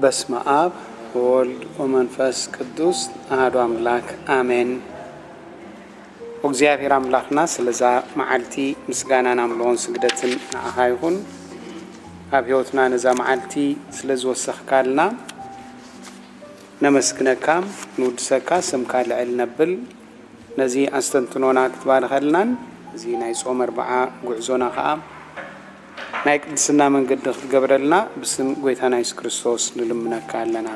በስመ ኣብ ወወልድ ወመንፈስ ቅዱስ ኣሐዱ ኣምላክ ኣሜን። እግዚኣብሔር ኣምላኽና ስለዛ መዓልቲ ምስጋናን ኣምልኾን ስግደትን ንዓኻ ይኹን። ኣብ ሕይወትና ነዛ መዓልቲ ስለ ዝወሰኽካልና ነመስግነካ፣ ንውድሰካ፣ ስምካ ልዕል ነብል። ነዚ ኣስተንትኖና ክትባርኸልናን እዚ ናይ ጾም ኣርብዓ ጉዕዞና ኸኣ ናይ ቅድስና መንገዲ ክትገብረልና ብስም ጎይታና የሱስ ክርስቶስ ንልምነካ ኣለና።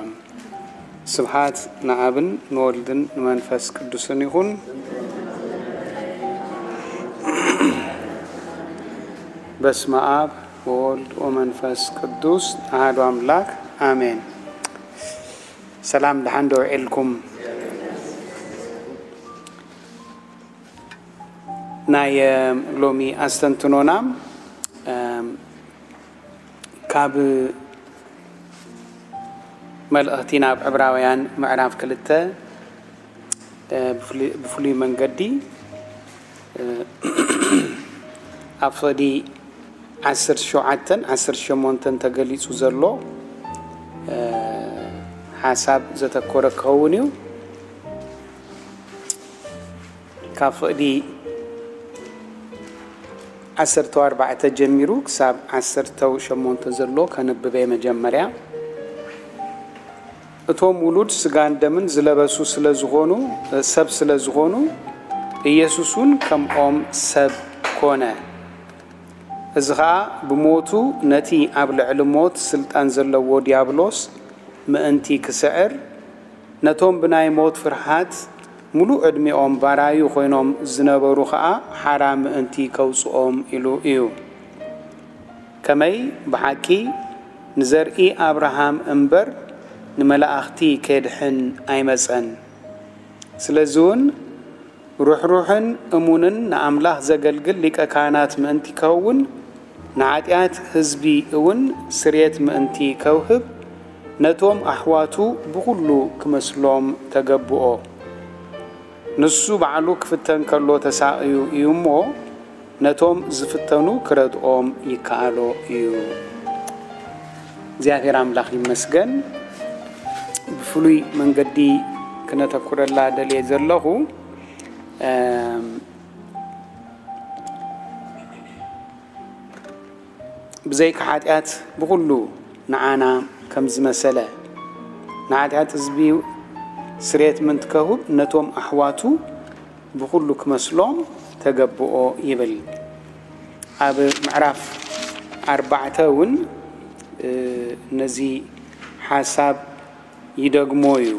ስብሓት ንኣብን ንወልድን ንመንፈስ ቅዱስን ይኹን። በስመ ኣብ ወወልድ ወመንፈስ ቅዱስ ኣሐዱ ኣምላክ ኣሜን። ሰላም፣ ደሓን ዶ ውዒልኩም? ናይ ሎሚ ኣስተንትኖና እም፣ ካብ መልእኽቲ ናብ ዕብራውያን ምዕራፍ ክልተ እ፣ ብፍሉ- ብፍሉይ መንገዲ እ፣ ኣብ ፍቕዲ ዓሰርተ ሸውዓተን ዓሰርተ ሸሞንተን ተገሊጹ ዘሎ እ፣ ሓሳብ ዘተኮረ ክኸውን እዩ። ካብ ፍቕዲ ዓሰርተ ኣርባዕተ ጀሚሩ ክሳብ ዓሰርተ ሸሞንተ ዘሎ ከንብበ መጀመርያ። እቶም ውሉድ ስጋን ደምን ዝለበሱ ስለ ዝኾኑ፣ ሰብ ስለ ዝኾኑ፣ ኢየሱስ እውን ከምኦም ሰብ ኮነ። እዚ ኸኣ ብሞቱ ነቲ ኣብ ልዕሊ ሞት ስልጣን ዘለዎ ዲያብሎስ ምእንቲ ክስዕር፣ ነቶም ብናይ ሞት ፍርሃት ምሉእ ዕድሚኦም ባራዩ ኮይኖም ዝነበሩ ኸኣ ሓራ ምእንቲ ከውጽኦም ኢሉ እዩ። ከመይ ብሓቂ ንዘርኢ ኣብርሃም እምበር ንመላእኽቲ ኬድሕን ኣይመጸን። ስለዚ እውን ርሕሩሕን እሙንን ንኣምላኽ ዘገልግል ሊቀ ካህናት ምእንቲ ክኸውን፣ ንሓጢኣት ህዝቢ እውን ስርየት ምእንቲ ከውህብ፣ ነቶም ኣሕዋቱ ብኹሉ ክመስሎም ተገብኦ። ንሱ ባዕሉ ክፍተን ከሎ ተሳቕዩ እዩ እሞ፣ ነቶም ዝፍተኑ ክረድኦም ይከኣሎ እዩ። እግዚኣብሔር ኣምላኽ ይመስገን። ብፍሉይ መንገዲ ክነተኩረላ ደልየ ዘለኹ፣ እም፣ ብዘይካ ሓጢኣት ብኹሉ ንዓና ከም ዝመሰለ፣ ንሓጢኣት ህዝቢ ስርየት ምእንቲ ከውህብ ነቶም ኣሕዋቱ ብኹሉ ክመስሎም ተገብኦ ይብል። ኣብ ምዕራፍ ኣርባዕተ እውን እ፣ ነዚ ሓሳብ ይደግሞ እዩ።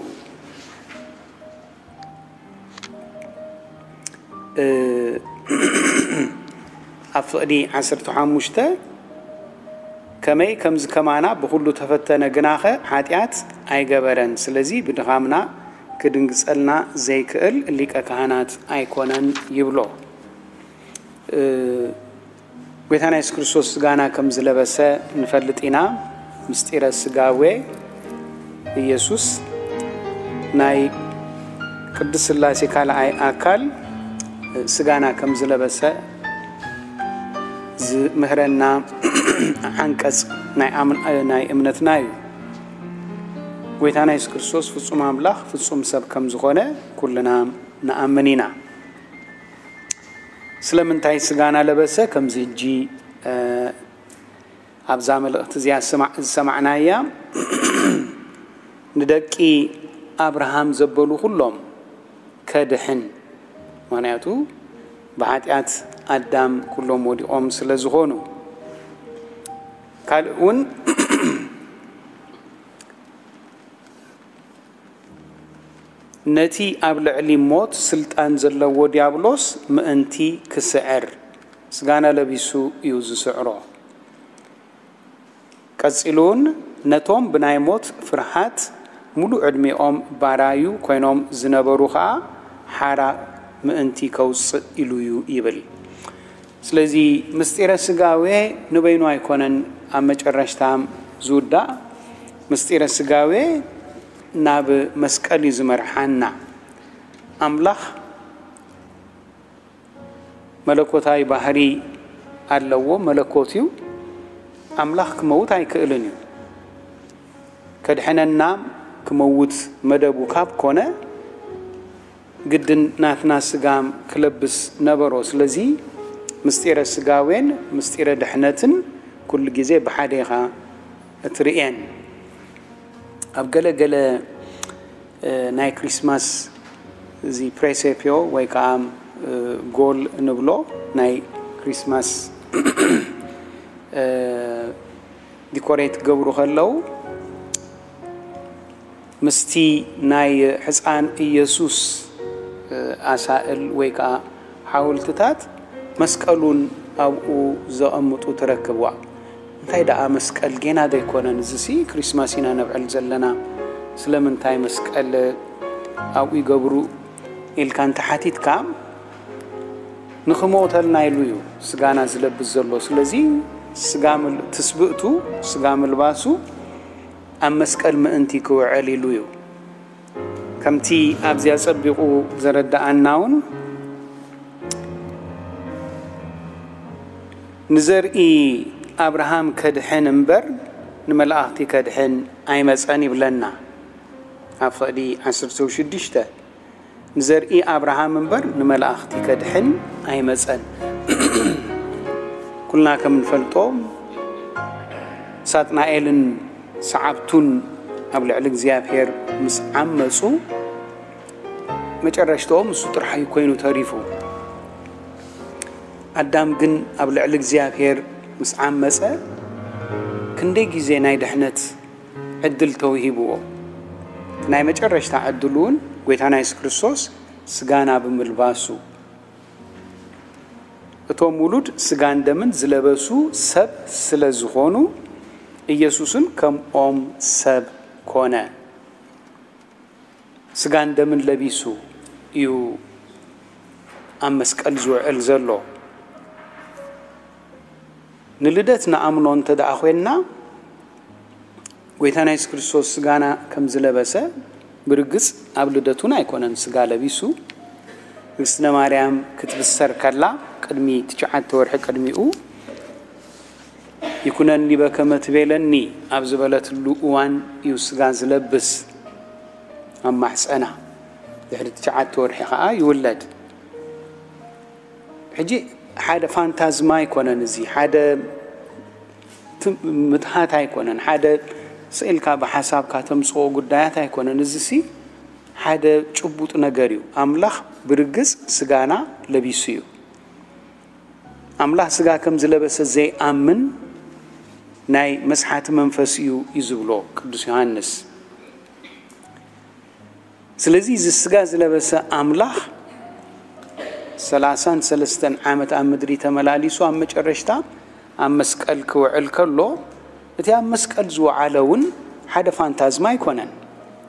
እ፣ ኣብ ፍቕዲ ዓሰርተ ሓሙሽተ፣ ከመይ ከምዚ ከማና ብኹሉ ተፈተነ ግናኸ ሓጢኣት ኣይገበረን፣ ስለዚ ብድኻምና ክድንግጸልና ዘይክእል ሊቀ ካህናት ኣይኮነን ይብሎ። እ፣ ጎይታና የሱስ ክርስቶስ ስጋና ከም ዝለበሰ ንፈልጥ ኢና። ምስጢረ ስጋዌ ኢየሱስ ናይ ቅድስት ሥላሴ ካልኣይ ኣካል ስጋና ከም ዝለበሰ ዝምህረና ዓንቀጽ ናይ ኣምን- ናይ እምነትና እዩ። ጎይታና የሱስ ክርስቶስ ፍጹም ኣምላኽ ፍጹም ሰብ ከም ዝኾነ ኩልና ንኣምን ኢና። ስለምንታይ ስጋና ለበሰ? ከምዚ ሕጂ፣ እ፣ ኣብዛ መልእኽቲ እዚኣ ዝሰማዕ- ዝሰማዕናያ፣ ንደቂ ኣብርሃም ዘበሉ ኩሎም ከድሕን፣ ምኽንያቱ ብሓጢኣት ኣዳም ኩሎም ወዲቖም ስለ ዝኾኑ። ካልእ እውን ነቲ ኣብ ልዕሊ ሞት ስልጣን ዘለዎ ዲያብሎስ ምእንቲ ክስዕር፣ ስጋና ለቢሱ እዩ ዝስዕሮ። ቀጺሉ እውን ነቶም ብናይ ሞት ፍርሃት ሙሉእ ዕድሚኦም ባራዩ ኮይኖም ዝነበሩ ኸኣ ሓራ ምእንቲ ከውጽእ ኢሉ እዩ ይብል። ስለዚ ምስጢረ ስጋዌ ንበይኑ ኣይኮነን ኣብ መጨረሽታ ዝውዳእ። ምስጢረ ስጋዌ ናብ መስቀል እዩ ዝመርሓና። ኣምላኽ መለኮታዊ ባህሪ ኣለዎ፣ መለኮት እዩ። ኣምላኽ ክመውት ኣይክእልን እዩ። ከድሕነና ክመውት መደቡ ካብ ኮነ፣ ግድን ናትና ስጋም ክለብስ ነበሮ። ስለዚ ምስጢረ ስጋዌን ምስጢረ ድሕነትን ኩሉ ግዜ ብሓደ ኢኻ እትርእየን። ኣብ ገለ ገለ፣ እ፣ ናይ ክሪስማስ እዚ ፕሬሴፒዮ ወይ ከዓ፣ እ፣ ጎል እንብሎ ናይ ክሪስማስ፣ እ፣ ዲኮሬት ክገብሩ ከለዉ ምስቲ ናይ ሕፃን ኢየሱስ፣ እ፣ ኣሳእል ወይ ከዓ ሓወልትታት መስቀሉን ኣብኡ ዘቐምጡ ትረክብዋ። እንታይ ደኣ መስቀል ጌና ዶ ኣይኮነን? እዚሲ ክሪስማስ ኢና ነብዕል ዘለና። ስለምንታይ መስቀል ኣብኡ ይገብሩ ኢልካ እንተሓቲትካ፣ ንኽሞተልና ኢሉ እዩ ስጋና ዝለብስ ዘሎ። ስለዚ ስጋ ምል-፣ ትስብእቱ፣ ስጋ ምልባሱ ኣብ መስቀል ምእንቲ ክውዕል ኢሉ እዩ። ከምቲ ኣብዚ ኣጸቢቑ ዘረድኣና እውን፣ ንዘርኢ ኣብርሃም ከድሕን እምበር ንመላእኽቲ ከድሕን ኣይመጸን ይብለና ኣብ ፍቕዲ ዓሰርተ ሽዱሽተ። ንዘርኢ ኣብርሃም እምበር ንመላእኽቲ ከድሕን ኣይመጸን። ኩልና ከም እንፈልጦ፣ ሳጥናኤልን ሰዓብቱን ኣብ ልዕሊ እግዚኣብሔር ምስ ዓመጹ፣ መጨረሽትኦም እሱ ጥራሕ እዩ ኮይኑ ተሪፉ። ኣዳም ግን ኣብ ልዕሊ እግዚኣብሔር ምስ ዓመጸ፣ ክንደይ ግዜ ናይ ድሕነት ዕድል ተውሂብዎ። እቲ ናይ መጨረሽታ ዕድሉ እውን ጐይታና የሱስ ክርስቶስ ስጋና ብምልባሱ፣ እቶም ውሉድ ስጋን ደምን ዝለበሱ ሰብ ስለ ዝኾኑ፣ ኢየሱስን ከምኦም ሰብ ኮነ። ስጋን ደምን ለቢሱ እዩ ኣብ መስቀል ዝውዕል ዘሎ። ንልደት ንኣምኖ እንተ ደኣ ኾይንና፣ ጐይታና የሱስ ክርስቶስ ስጋና ከም ዝለበሰ፣ ብርግጽ ኣብ ልደቱን ኣይኮነን ስጋ ለቢሱ። ንግስነ ማርያም ክትብሰር ከላ፣ ቅድሚ ትሽዓተ ወርሒ ቅድሚኡ፣ "ይኩነኒ በከመ ትቤለኒ" ኣብ ዝበለትሉ እዋን እዩ ስጋ ዝለብስ ኣብ ማሕጸና። ድሕሪ ትሽዓተ ወርሒ ኸኣ ይውለድ። ሕጂ ሓደ ፋንታዝማ ኣይኮነን፣ እዚ ሓደ ት-፣ ምትሃት ኣይኮነን፣ ሓደ ስኢልካ ብሓሳብካ ተምጽኦ ጉዳያት ኣይኮነን። እዚሲ ሓደ ጭቡጥ ነገር እዩ። ኣምላኽ ብርግጽ ስጋና ለቢሱ እዩ። ኣምላኽ ስጋ ከም ዝለበሰ ዘይኣምን ናይ መስሓቲ መንፈስ እዩ፣ እዩ ዝብሎ ቅዱስ ዮሃንስ። ስለዚ እዚ ስጋ ዝለበሰ ኣምላኽ ሰላሳን ሰለስተን ዓመት ኣብ ምድሪ ተመላሊሱ፣ ኣብ መጨረሽታ ኣብ መስቀል ክውዕል ከሎ፣ እቲ ኣብ መስቀል ዝወዓለ እውን ሓደ ፋንታዝማ ኣይኮነን፣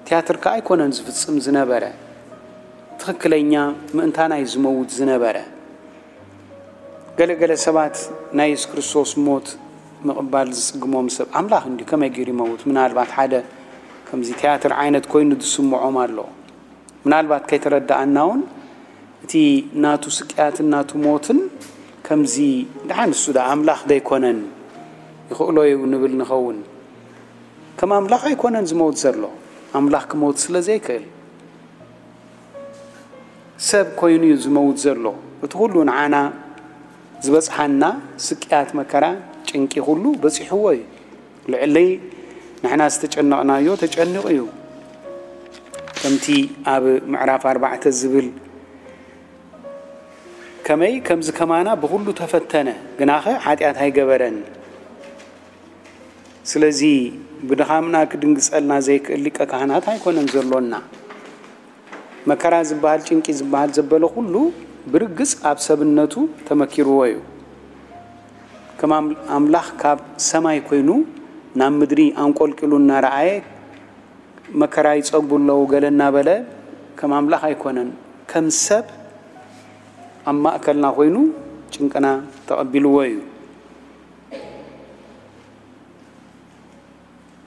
ትያትር ከኣ ኣይኮነን ዝፍጽም ዝነበረ፣ ትኽክለኛ ምእንታና እዩ ዝመውት ዝነበረ። ገለ ገለ ሰባት ናይ የሱስ ክርስቶስ ሞት ምቕባል ዝጽግሞም ሰብ፣ ኣምላኽ እንድዩ ከመይ ገይሩ ይመውት? ምናልባት ሓደ ከምዚ ትያትር ዓይነት ኮይኑ ዝስምዖም ኣሎ። ምናልባት ከይተረድኣና እውን እቲ ናቱ ስቅያትን ናቱ ሞትን ከምዚ፣ ደሓን እሱ ደኣ ኣምላኽ ዶ ኣይኮነን? ይኽእሎ እዩ ንብል ንኸውን። ከም ኣምላኽ ኣይኮነን ዝመውት ዘሎ። ኣምላኽ ክመውት ስለ ዘይክእል፣ ሰብ ኮይኑ እዩ ዝመውት ዘሎ። እቲ ኩሉ ንዓና ዝበጽሓና ስቅያት፣ መከራ፣ ጭንቂ ኩሉ በጺሕዎ እዩ። ልዕሊ ንሕና ዝተጨነቕናዮ ተጨኒቑ እዩ። ከምቲ ኣብ ምዕራፍ ኣርባዕተ ዝብል፣ "ከመይ ከምዚ ከማና ብኹሉ ተፈተነ፣ ግናኸ ሓጢኣት ኣይገበረን።" ስለዚ ብድኻምና ክድንግጸልና ዘይክእል ሊቀ ካህናት ኣይኮነን ዘሎና። መከራ ዝበሃል፣ ጭንቂ ዝበሃል ዘበለ ኩሉ ብርግጽ ኣብ ሰብነቱ ተመኪርዎ እዩ። ከም ኣም-፣ ኣምላኽ ካብ ሰማይ ኮይኑ ናብ ምድሪ ኣንቆልቂሉ እናረኣየ፣ "መከራ ይጸግቡ ኣለዉ" ገለ እናበለ፣ ከም ኣምላኽ ኣይኮነን። ከም ሰብ ኣብ ማእከልና ኮይኑ ጭንቅና ተቐቢልዎ እዩ።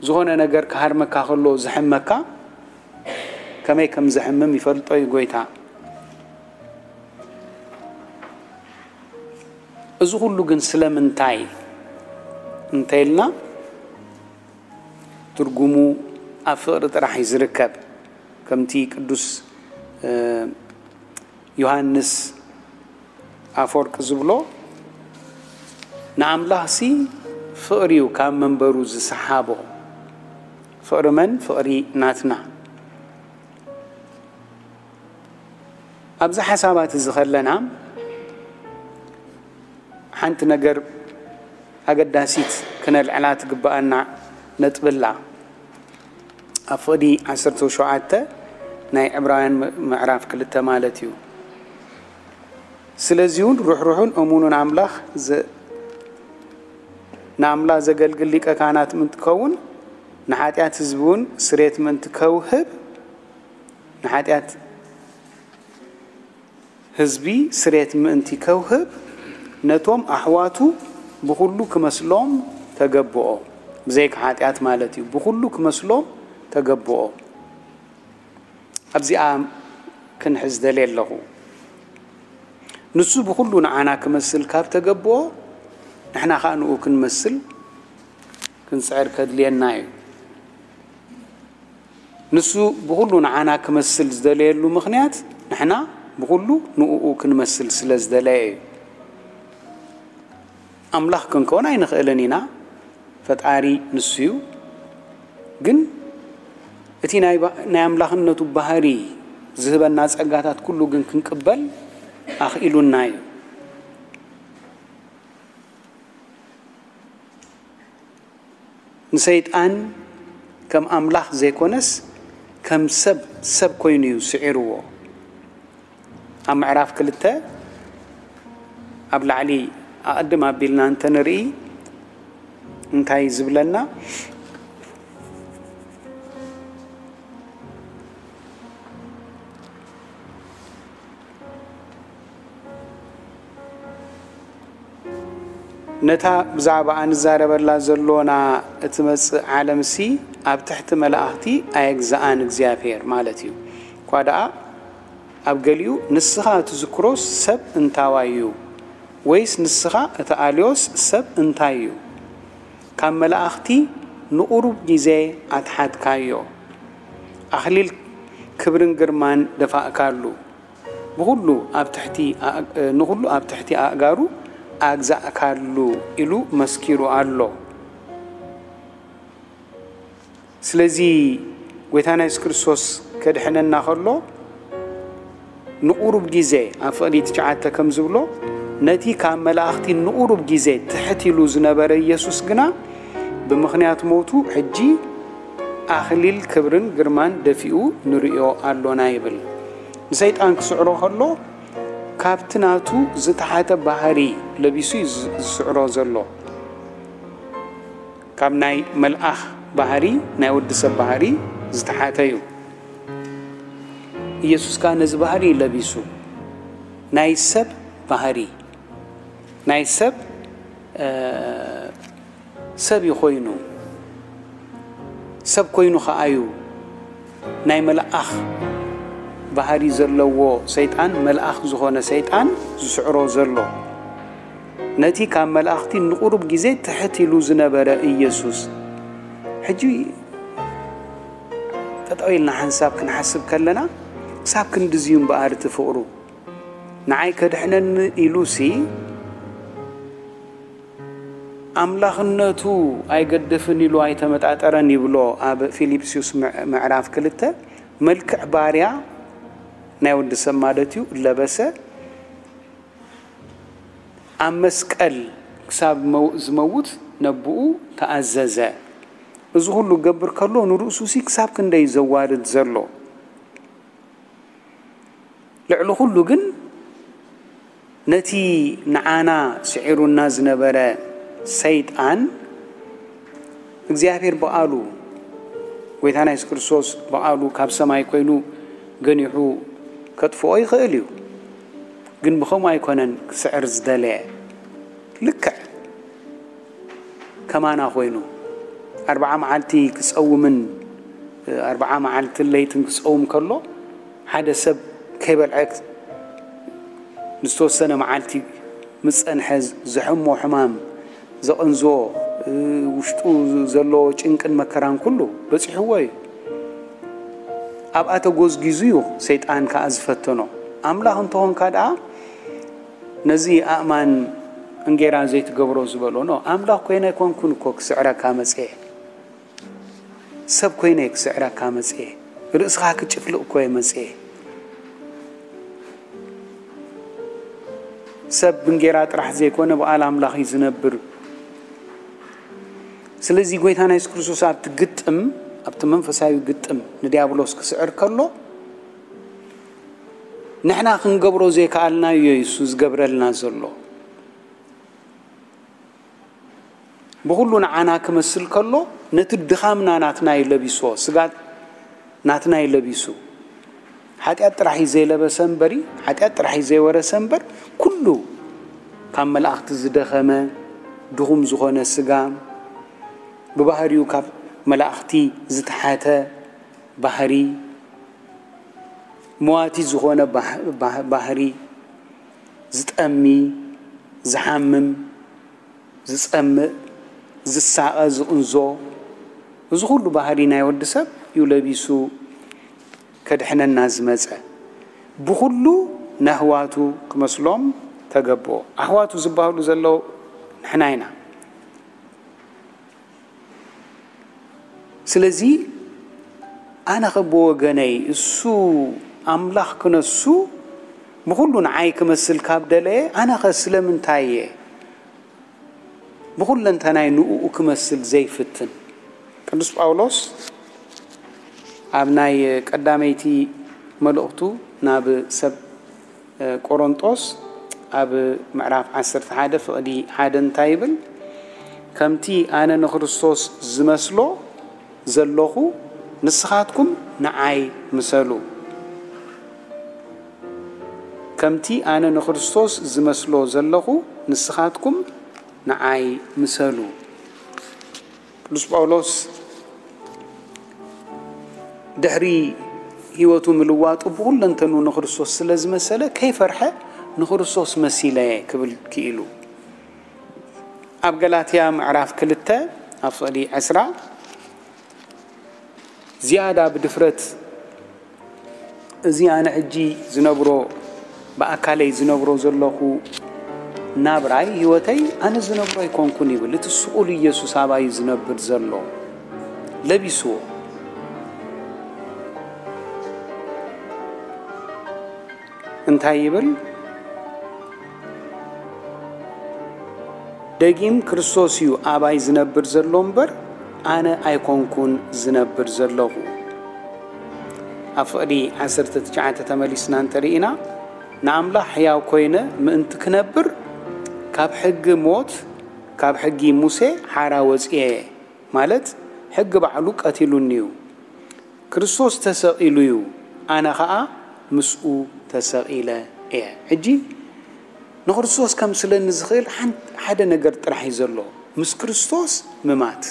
ዝኾነ ነገር ክሃርመካ ከሎ ዝሕመካ፣ ከመይ ከም ዘሕምም ይፈልጦ እዩ ጐይታ። እዚ ኩሉ ግን ስለምንታይ እንተ ኢልና፣ ትርጉሙ ኣብ ፍቕሪ ጥራሕ እዩ ዝርከብ። ከምቲ ቅዱስ ዮሃንስ ኣፈወርቂ ዝብሎ፣ ንኣምላኽሲ ፍቕሪ እዩ ካብ መንበሩ ዝሰሓቦ። ፍቕሪ መን? ፍቕሪ ናትና። ኣብዚ ሓሳባት እዚ ከለና ሓንቲ ነገር ኣገዳሲት ክነልዕላ ትግብኣና ነጥቢ ኣላ። ኣብ ፍቕዲ ዓሰርተ ሸውዓተ ናይ ዕብራውያን ምዕራፍ ክልተ ማለት እዩ። ስለዚ እውን ርሕሩሕን እሙኑን ኣምላኽ ዘ-፣ ንኣምላኽ ዘገልግል ሊቀ ካህናት ምእንቲ ክኸውን፣ ንሓጢኣት ህዝቢ እውን ስሬት ምእንቲ ከውህብ፣ ንሓጢኣት ህዝቢ ስሬት ምእንቲ ከውህብ፣ ነቶም ኣሕዋቱ ብኹሉ ክመስሎም ተገብኦ። ብዘይካ ሓጢኣት ማለት እዩ። ብኹሉ ክመስሎም ተገብኦ። ኣብዚኣ ክንሕዝ ደልየ ኣለኹ። ንሱ ብኹሉ ንዓና ክመስል ካብ ተገብኦ፣ ንሕና ኸኣ ንኡ ክንመስል ክንጽዕር ከድልየና እዩ። ንሱ ብኹሉ ንዓና ክመስል ዝደለየሉ ምኽንያት፣ ንሕና ብኹሉ ንእኡ ክንመስል ስለ ዝደለየ እዩ። ኣምላኽ ክንከውን ኣይንኽእልን ኢና። ፈጣሪ ንሱ እዩ። ግን እቲ ናይ ባ-፣ ናይ ኣምላኽነቱ ባህሪ ዝህበና ጸጋታት ኩሉ ግን ክንቅበል ኣኽኢሉና እዩ። ንሰይጣን ከም ኣምላኽ ዘይኮነስ ከም ሰብ፣ ሰብ ኮይኑ እዩ ስዒርዎ። ኣብ ምዕራፍ ክልተ ኣብ ላዕሊ ኣቐድም ኣቢልና እንተንርኢ እንታይ ዝብለና? ነታ ብዛዕባኣ ንዛረበላ ዘሎና እትመጽእ ዓለምሲ ኣብ ትሕቲ መላእኽቲ ኣየግዝኣን እግዚኣብሔር ማለት እዩ። እኳ ደኣ ኣብ ገሊኡ ንስኻ እትዝክሮስ ሰብ እንታዋይ እዩ? ወይስ ንስኻ እትኣልዮስ ሰብ እንታይ እዩ? ካብ መላእኽቲ ንቑሩብ ግዜ ኣትሓትካዮ። ኣኽሊል ክብርን ግርማን ደፋእካሉ። ብኹሉ ኣብ ትሕቲ ኣእ-፣ ንኹሉ ኣብ ትሕቲ ኣእጋሩ ኣግዛእካሉ ኢሉ መስኪሩ ኣሎ። ስለዚ ጎይታና የሱስ ክርስቶስ ከድሕነና ከሎ ንቑሩብ ግዜ፣ ኣብ ፍቕዲ ትሽዓተ ከም ዝብሎ፣ ነቲ ካብ መላእኽቲ ንቑሩብ ግዜ ትሕት ኢሉ ዝነበረ ኢየሱስ ግና ብምኽንያት ሞቱ ሕጂ ኣኽሊል ክብርን ግርማን ደፊኡ ንርእዮ ኣሎና ይብል። ንሰይጣን ክስዕሮ ከሎ ካብቲ ናቱ ዝተሓተ ባህሪ ለቢሱ እዩ ዝ-፣ ዝስዕሮ ዘሎ። ካብ ናይ መልኣኽ ባህሪ፣ ናይ ወዲ ሰብ ባህሪ ዝተሓተ እዩ። ኢየሱስ ከኣ ነዚ ባህሪ እዩ ለቢሱ። ናይ ሰብ ባህሪ፣ ናይ ሰብ፣ እ፣ ሰብ እዩ ኮይኑ። ሰብ ኮይኑ ከኣ እዩ ናይ መልኣኽ ባህሪ ዘለዎ ሰይጣን፣ መልኣኽ ዝኾነ ሰይጣን ዝስዕሮ ዘሎ። ነቲ ካብ መላእኽቲ ንቑሩብ ግዜ ትሕት ኢሉ ዝነበረ ኢየሱስ፣ ሕጂ ጠጠው ኢልና ሓንሳብ ክንሓስብ ከለና፣ ክሳብ ክንድዚ እዩ እምበኣር እቲ ፍቕሩ። ንዓይ ከድሕነኒ ኢሉሲ፣ ኣምላኽነቱ ኣይገድፍን ኢሉ ኣይተመጣጠረን ይብሎ ኣብ ፊልጵስዩስ ምዕ-፣ ምዕራፍ ክልተ፣ መልክዕ ባርያ ናይ ወዲ ሰብ ማለት እዩ፣ ለበሰ። ኣብ መስቀል ክሳብ መው-፣ ዝመውት ነብኡ ተኣዘዘ። እዚ ኩሉ ክገብር ከሎ ንርእሱሲ ክሳብ ክንደይ ዘዋርድ ዘሎ። ልዕሊ ኩሉ ግን ነቲ ንዓና ስዒሩና ዝነበረ ሰይጣን እግዚኣብሔር ብቓሉ፣ ጎይታና የሱስ ክርስቶስ ብቓሉ ካብ ሰማይ ኮይኑ ገኒሑ ከጥፍኦ ይኽእል እዩ። ግን ብኸምኡ ኣይኮነን ክስዕር ዝደለየ። ልክዕ ከማና ኮይኑ ኣርብዓ መዓልቲ ክጸውምን ኣርብዓ መዓልትን ለይትን ክጸውም ከሎ፣ ሓደ ሰብ ከይበልዐ ንዝተወሰነ መዓልቲ ምስ ጸንሐ፣ ዘሕሞ ሕማም፣ ዘቐንዝዎ፣ ውሽጡ ዘለዎ ጭንቅን መከራን ኩሉ በጺሕዎ እዩ። ኣብኣ ተጎዝጊዙ እዩ ሰይጣን ከኣ ዝፈተኖ። ኣምላኽ እንተኾንካ ደኣ ነዚ ኣእማን እንጌራ ዘይትገብሮ ዝበሎ። ኖ፣ ኣምላኽ ኮይነ ኣይኮንኩን እኮ ክስዕረካ መጽኤ። ሰብ ኮይነ ክስዕረካ መጽኤ። ርእስኻ ክጭፍልቕ እኮ እየ መጽኤ። ሰብ ብእንጌራ ጥራሕ ዘይኮነ ብቓል ኣምላኽ እዩ ዝነብር። ስለዚ ጎይታና የሱስ ክርስቶስ ኣብቲ ግጥም፣ ኣብቲ መንፈሳዊ ግጥም ንድያብሎስ ክስዕር ከሎ፣ ንሕና ክንገብሮ ዘይከኣልናዮ እዩ እሱ ዝገብረልና ዘሎ። ብኹሉ ንዓና ክመስል ከሎ፣ ነቲ ድኻምና ናትና እዩ ለቢስዎ፣ ስጋ ናትና እዩ ለቢሱ። ሓጢኣት ጥራሕ እዩ ዘይለበሰ እምበሪ፣ ሓጢኣት ጥራሕ እዩ ዘይወረሰ እምበር፣ ኩሉ ካብ መላእኽቲ ዝደኸመ፣ ድኹም ዝኾነ ስጋ፣ ብባህሪኡ ካብ መላእኽቲ ዝተሓተ ባህሪ፣ መዋቲ ዝኾነ ባህ-፣ ባህ-፣ ባህሪ፣ ዝጠሚ፣ ዝሓምም፣ ዝጸምእ፣ ዝሳቐ፣ ዝቕንዞ፣ እዚ ኩሉ ባህሪ ናይ ወዲ ሰብ እዩ ለቢሱ ከድሕነና ዝመጸ። ብኹሉ ነህዋቱ ክመስሎም ተገብኦ። ኣሕዋቱ ዝበሃሉ ዘለዉ ንሕና ኢና። ስለዚ ኣነ ኸ ብወገነይ እሱ ኣምላኽ ክነሱ ብኹሉ ንዓይ ክመስል ካብ ደለየ፣ ኣነ ኸ ስለምንታይ እየ ብኹለንተናይ ንእኡ ክመስል ዘይፍትን? ቅዱስ ጳውሎስ ኣብ ናይ ቀዳመይቲ መልእኽቱ ናብ ሰብ ቆሮንጦስ ኣብ ምዕራፍ ዓሰርተ ሓደ ፍቕዲ ሓደ እንታይ ይብል? ከምቲ ኣነ ንክርስቶስ ዝመስሎ ዘለኹ ንስኻትኩም ንዓይ ምሰሉ። ከምቲ ኣነ ንክርስቶስ ዝመስሎ ዘለኹ ንስኻትኩም ንዓይ ምሰሉ። ቅዱስ ጳውሎስ ድሕሪ ህይወቱ ምልዋጡ ብኹለንተኑ ንክርስቶስ ስለ ዝመሰለ ከይፈርሐ ንክርስቶስ መሲለ እየ ክብል ክኢሉ። ኣብ ገላትያ ምዕራፍ ክልተ ኣብ ፍቕዲ ዕስራ ዝያዳ ብድፍረት እዚ ኣነ ሕጂ ዝነብሮ፣ ብኣካለይ ዝነብሮ ዘለኹ ናብራይ፣ ህይወተይ ኣነ ዝነብሮ ኣይኮንኩን ይብል። እቲ ስቑል ኢየሱስ ኣባይ እዩ ዝነብር ዘሎ። ለቢስዎ። እንታይ ይብል? ደጊም ክርስቶስ እዩ ኣባይ ዝነብር ዘሎ እምበር፣ ኣነ ኣይኮንኩን ዝነብር ዘለኹ። ኣብ ፍቕዲ ዓሰርተ ትሽዓተ ተመሊስና እንተርኢና፣ ንኣምላኽ ሕያው ኮይነ ምእንቲ ክነብር፣ ካብ ሕጊ ሞት፣ ካብ ሕጊ ሙሴ ሓራ ወጽኤ፣ ማለት ሕጊ ባዕሉ ቀቲሉኒ እዩ። ክርስቶስ ተሰቒሉ እዩ፣ ኣነ ኸኣ ምስኡ ተሰቒለ እየ። ሕጂ ንክርስቶስ ከምስለኒ ዝኽእል ሓን-፣ ሓደ ነገር ጥራሕ እዩ ዘሎ፣ ምስ ክርስቶስ ምማት።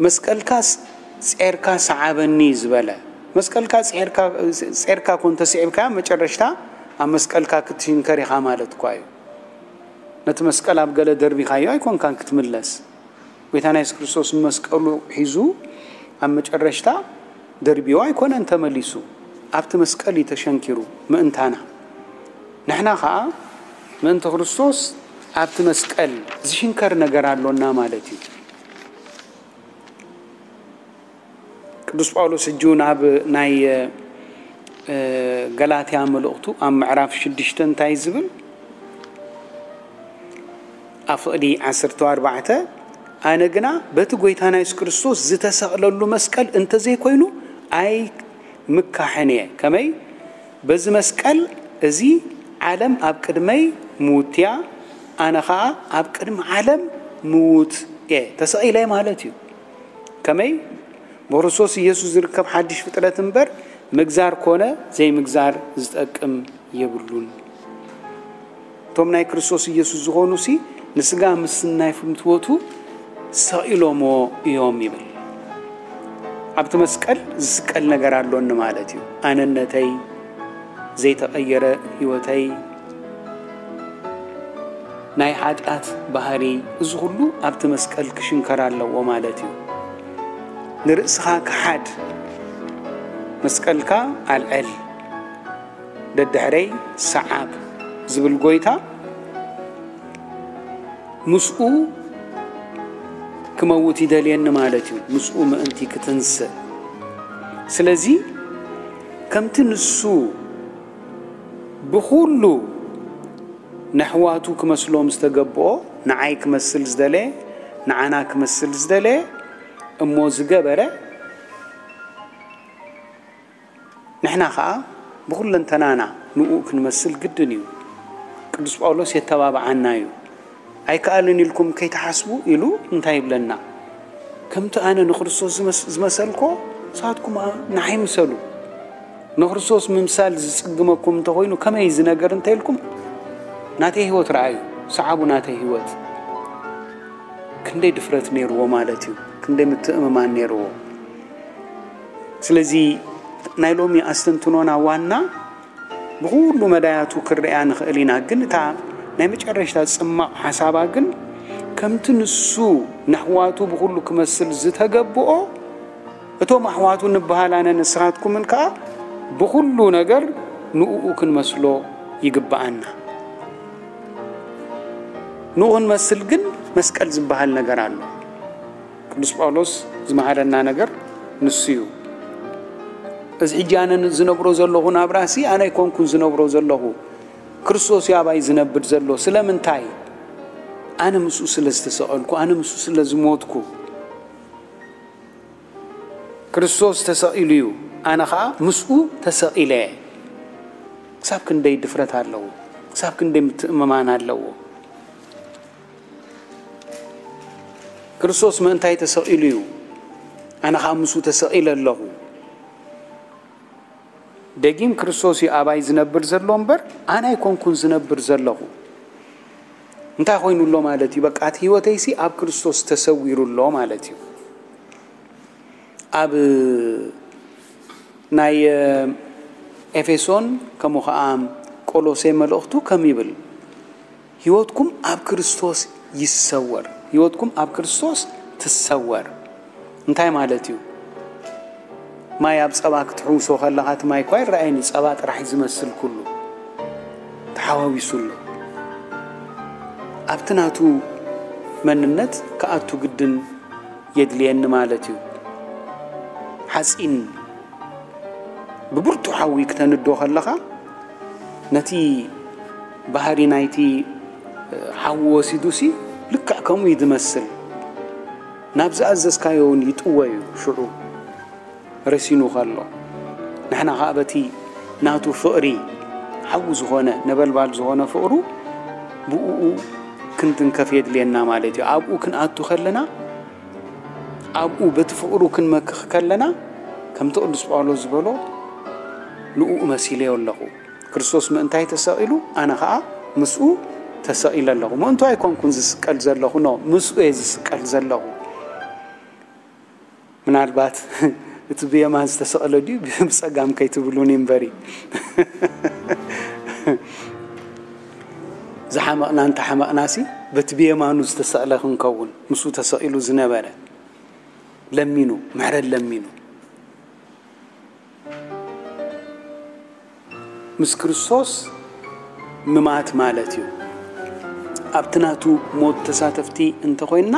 መስቀልካ ስ-፣ ጼርካ ሰዓበኒ ዝበለ፣ መስቀልካ ጼርካ፣ ጼርካ ኮን ተስዒብካ መጨረሽታ ኣብ መስቀልካ ክትሽንከር ኢኻ ማለት እኳ እዩ። ነቲ መስቀል ኣብ ገለ ደርቢኻዮ ኣይኮንካን ክትምለስ። ጎይታና የሱስ ክርስቶስ መስቀሉ ሒዙ ኣብ መጨረሽታ ደርቢዎ ኣይኮነን ተመሊሱ፣ ኣብቲ መስቀል እዩ ተሸንኪሩ ምእንታና። ንሕና ኸኣ ምእንቲ ክርስቶስ ኣብቲ መስቀል ዝሽንከር ነገር ኣሎና ማለት እዩ። ቅዱስ ጳውሎስ ሕጂ እውን ኣብ ናይ፣ እ፣ ገላትያ መልእኽቱ ኣብ ምዕራፍ ሽዱሽተ እንታይ ዝብል? ኣብ ፍቕዲ ዓሰርተ ኣርባዕተ፣ ኣነ ግና በቲ ጐይታና የሱስ ክርስቶስ ዝተሰቕለሉ መስቀል እንተዘይኮይኑ ኣይምካሕን እየ። ከመይ? በዚ መስቀል እዚ ዓለም ኣብ ቅድመይ ምውትያ፣ ኣነ ኸኣ ኣብ ቅድሚ ዓለም ምዉት እየ። ተሰቒለ ማለት እዩ። ከመይ? ብክርስቶስ ኢየሱስ ዝርከብ ሓድሽ ፍጥረት እምበር፣ ምግዛር ኮነ ዘይምግዛር ዝጠቅም የብሉን። እቶም ናይ ክርስቶስ ኢየሱስ ዝኾኑሲ፣ ንስጋ ምስ ናይ ፍትወቱ ሰቒሎሞ እዮም ይብል። ኣብቲ መስቀል ዝስቀል ነገር ኣሎኒ ማለት እዩ። ኣነነተይ፣ ዘይተቐየረ ህይወተይ፣ ናይ ሓጢኣት ባህሪ፣ እዚ ኩሉ ኣብቲ መስቀል ክሽንከር ኣለዎ ማለት እዩ። ንርእስኻ ክሓድ፣ መስቀልካ ኣልዕል፣ ደድሕረይ ሰዓብ ዝብል ጎይታ፣ ምስኡ ክመውት ይደልየኒ ማለት እዩ። ምስኡ ምእንቲ ክትንስእ። ስለዚ ከምቲ ንሱ ብኹሉ ነሕዋቱ ክመስሎም ዝተገብኦ፣ ንዓይ ክመስል ዝደለ፣ ንዓና ክመስል ዝደለ እሞ ዝገበረ፣ ንሕና ኸኣ ብኹለንተናና ንኡ ክንመስል ግድን እዩ። ቅዱስ ጳውሎስ የተባብዓና እዩ። ኣይከኣልን ኢልኩም ከይትሓስቡ ኢሉ እንታይ ይብለና? ከምቲ ኣነ ንክርስቶስ ዝመስ-፣ ዝመሰልኮ ንሳትኩም ንዓይ ምሰሉ። ንክርስቶስ ምምሳል ዝጽግመኩም እንተኾይኑ ከመይ እዚ ነገር እንተ ኢልኩም ናተይ ህይወት ረኣዩ፣ ሰዓቡ ናተይ ህይወት። ክንደይ ድፍረት ነይርዎ ማለት እዩ፣ ክንደይ ምትእምማን ነይርዎ። ስለዚ ናይ ሎሚ ኣስተንትኖና ዋና ብኹሉ መዳያቱ ክንሪኣ ንኽእል ኢና፣ ግን እታ ናይ መጨረሽታ ጽማቕ ሓሳባ ግን ከምቲ ንሱ ንኣሕዋቱ ብኹሉ ክመስል ዝተገብኦ፣ እቶም ኣሕዋቱ ንበሃል ኣነ ንስኻትኩምን ከኣ ብኹሉ ነገር ንእኡ ክንመስሎ ይግብኣና። ንኡ ክንመስል ግን መስቀል ዝበሃል ነገር ኣሎ። ቅዱስ ጳውሎስ ዝመሃረና ነገር ንሱ እዩ። እዚ ሕጂ ኣነ ዝነብሮ ዘለኹ ናብራሲ ኣነ ኣይኮንኩን ዝነብሮ ዘለኹ፣ ክርስቶስ እዩ ኣባይ ዝነብር ዘሎ። ስለምንታይ? ኣነ ምስኡ ስለ ዝተሰቐልኩ፣ ኣነ ምስኡ ስለ ዝሞትኩ። ክርስቶስ ተሰቒሉ እዩ፣ ኣነ ኸኣ ምስኡ ተሰቒለ። ክሳብ ክንደይ ድፍረት ኣለዎ! ክሳብ ክንደይ ምትእምማን ኣለዎ! ክርስቶስ ምእንታይ ተሰቒሉ እዩ፣ ኣነ ኸኣ ምስኡ ተሰቒለ ኣለኹ። ደጊም ክርስቶስ እዩ ኣባይ ዝነብር ዘሎ እምበር፣ ኣነ ኣይኮንኩን ዝነብር ዘለኹ። እንታይ ኮይኑ ኣሎ ማለት እዩ? በቃ፣ እቲ ህይወተይሲ ኣብ ክርስቶስ ተሰዊሩ ኣሎ ማለት እዩ። ኣብ ናይ ኤፌሶን ከምኡ ኸኣ ቆሎሴ መልእኽቱ ከም ይብል፣ ህይወትኩም ኣብ ክርስቶስ ይሰወር። ህይወትኩም ኣብ ክርስቶስ ትሰወር። እንታይ ማለት እዩ? ማይ ኣብ ጸባ ክትሕውሶ ከለኻ፣ እቲ ማይ እኳ ይረኣየኒ፣ ጸባ ጥራሕ እዩ ዝመስል ኩሉ። ተሓዋዊሱ ኣሎ። ኣብቲ ናቱ መንነት ክኣቱ ግድን የድልየኒ ማለት እዩ። ሓጺን ብብርቱዕ ሓዊ ክተንዶ ከለኻ፣ ነቲ ባህሪ ናይቲ ሓዊ ወሲዱሲ ልክዕ ከምኡ እዩ ዝመስል። ናብ ዝኣዘዝካዮ እውን ይጥወ እዩ ሽዑ ረሲኑ ከሎ። ንሕና ኸኣ በቲ ናቱ ፍቕሪ፣ ሓዊ ዝኾነ፣ ነበልባል ዝኾነ ፍቕሩ ብእኡ ክንትንከፍ የድልየና ማለት እዩ። ኣብኡ ክንኣቱ ከለና፣ ኣብኡ በቲ ፍቕሩ ክንመክኽ ከለና፣ ከምቲ ቅዱስ ጳውሎስ ዝበሎ፣ ንእኡ መሲለዮ ኣለኹ። ክርስቶስ ምእንታይ ተሰቒሉ፣ ኣነ ኸኣ ምስኡ ተሰቒለ ኣለኹ። ምእንቱ ኣይኮንኩን ዝስቀል ዘለኹ፣ ኖ፣ ምስኡ እየ ዝስቀል ዘለኹ። ምናልባት እቲ ብየማን ዝተሰቕለ ድዩ ብጸጋም ከይትብሉኒ እምበሪ። ዝሓመቕና እንተሓመቕናሲ፣ በቲ ብየማኑ ዝተሰቕለ ክንከውን፣ ምስኡ ተሰቒሉ ዝነበረ፣ ለሚኑ፣ ምሕረት ለሚኑ። ምስ ክርስቶስ ምማት ማለት እዩ። ኣብቲ ናቱ ሞት ተሳተፍቲ እንተኾይንና፣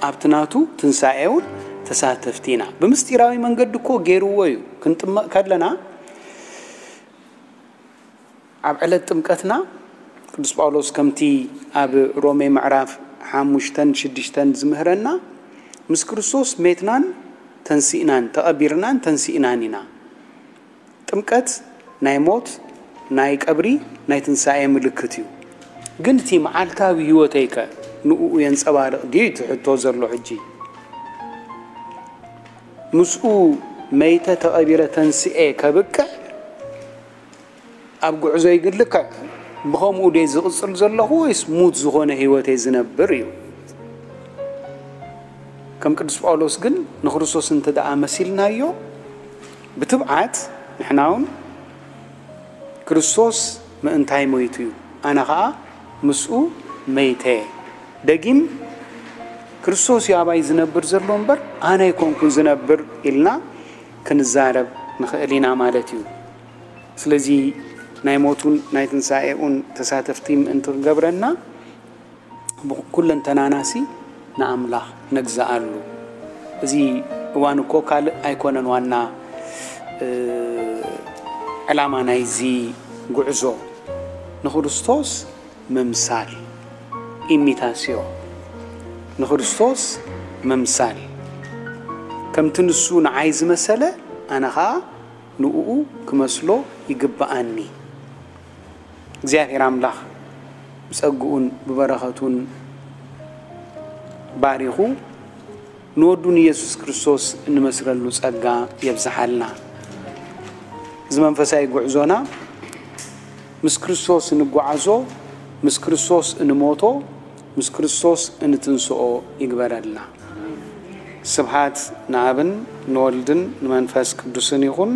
ኣብቲ ናቱ ትንሳኤ እውን ተሳተፍቲ ኢና። ብምስጢራዊ መንገዲ እኮ ገይርዎ እዩ። ክንጥመቕ ከለና፣ ኣብ ዕለት ጥምቀትና፣ ቅዱስ ጳውሎስ ከምቲ ኣብ ሮሜ ምዕራፍ ሓሙሽተን ሽዱሽተን ዝምህረና፣ ምስ ክርስቶስ ሜትናን ተንሲእናን፣ ተቐቢርናን ተንሲእናን ኢና። ጥምቀት ናይ ሞት፣ ናይ ቀብሪ፣ ናይ ትንሳኤ ምልክት እዩ። ግን እቲ መዓልታዊ ህይወተይከ ንእኡ የንጸባርቕ ድዩ? እቲ ሕቶ ዘሎ ሕጂ። ምስኡ መይተ፣ ተቐቢረ፣ ተንስኤ ከብቅዕ ኣብ ጉዕዞይ ግን ልክዕ ብኸምኡ ድየ ዝቕጽል ዘለኹ ወይስ ሙት ዝኾነ ህይወት እየ ዝነብር እዩ? ከም ቅዱስ ጳውሎስ ግን ንክርስቶስ እንተ ደኣ መሲልናዮ፣ ብትብዓት ንሕና እውን ክርስቶስ ምእንታይ ሞይቱ እዩ፣ ኣነ ኸኣ ምስኡ መይተ። ደጊም ክርስቶስ እዩ ኣባይ ዝነብር ዘሎ እምበር ኣነ ኣይኮንኩን ዝነብር ኢልና ክንዛረብ ንኽእል ኢና ማለት እዩ። ስለዚ ናይ ሞቱን ናይ ትንሳኤኡን ተሳተፍቲ ምእንቲ ክገብረና ኩለንተናናሲ ንኣምላኽ ነግዝኣሉ። እዚ እዋን እኮ ካልእ ኣይኮነን ዋና ዕላማ ናይዚ ጉዕዞ፣ ንክርስቶስ ምምሳል፣ ኢሚታስዮ፣ ንክርስቶስ ምምሳል። ከምቲ ንሱ ንዓይ ዝመሰለ ኣነ ኸኣ ንእኡ ክመስሎ ይግብኣኒ። እግዚኣብሔር ኣምላኽ ብጸግኡን ብበረኸቱን ባሪኹ ንወዱ ንኢየሱስ ክርስቶስ እንመስለሉ ጸጋ የብዝሓልና። እዚ መንፈሳዊ ጉዕዞና ምስ ክርስቶስ እንጓዓዞ፣ ምስ ክርስቶስ እንሞቶ፣ ምስ ክርስቶስ እንትንስኦ ይግበረልና። ስብሓት ንኣብን ንወልድን ንመንፈስ ቅዱስን ይኹን፣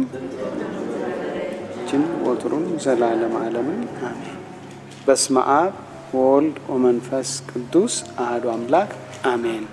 ጅን ወትሩን ዘላለም ዓለምን ኣሜን። በስመ ኣብ ወወልድ ወመንፈስ ቅዱስ ኣሃዱ ኣምላክ ኣሜን።